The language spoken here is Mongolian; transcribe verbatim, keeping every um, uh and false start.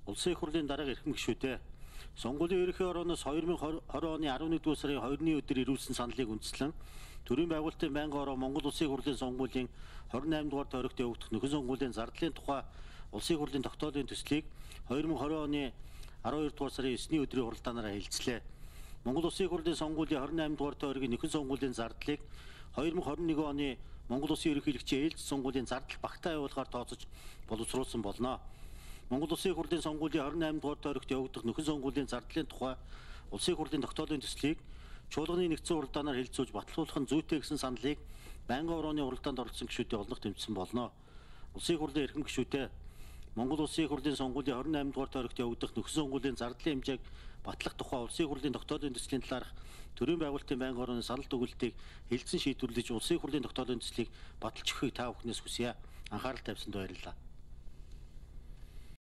Улсын их хурлын дарга эрхэм гишүүдээ сонгуулийн ерөнхий орооноос хоёр мың и двадцать оны арван нэгдүгээр сарын хоёрны өдөр ирүүлсэн саналыг үндэслэн төрийн байгуулалтын байнгын ороо Монгол Улсын их хурлын сонгуулийн двадцать восемь дугаар тойрогт явагдах нөхөн сонгуулийн зардлын тухай Улсын их хурлын тогтоолын төслийг хоёр мың и двадцать оны араван хоёр дугаар сарын есний өдрийн хуралдаанаараа хэлцлээ. Монгол Улсын их хурлын сонгуулийн двадцать восемь дугаар тойргийн нөхөн сонгуулийн зардлыг хоёр мың и двадцать один оны Монгол Улсын ерөнхийлөгчийн ээлжид сонгуулийн зардал багтаа явуулахаар тооцож боловсруулсан болно. Монгол Улсын их хурлын сонгуулийн двадцать восемь дугаар тойрогт явагдах нөхөн сонгуулийн зардлын тухай Улсын их хурлын тогтоолын төслийг чуулганы нэгдсэн хуралдаанаар хэлэлцүүлж батлуулах нь зүйтэй гэсэн саналыг байнгын орооны хуралдаанд оролцсон гишүүдээ олонх тэмцсэн болно. Улсын их хурлын эрхэм гишүүдээ Монгол Улсын их хурлын сонгуулийн двадцать восемь дугаар тойрогт явагдах нөхөн сонгуулийн зардлын хэмжээг батлах тухай Улсын их хурлын тогтоолын төслийн талаарх төрийн байгуулалтын байнгын орооны санал дүгнэлтийг хэлэлцэн шийдвэрлэж Улсын их хурлын тогтоолын төслийг баталж өгөхийг та бүхнээс хүсье. Анхаарал тавьсанд баярлалаа.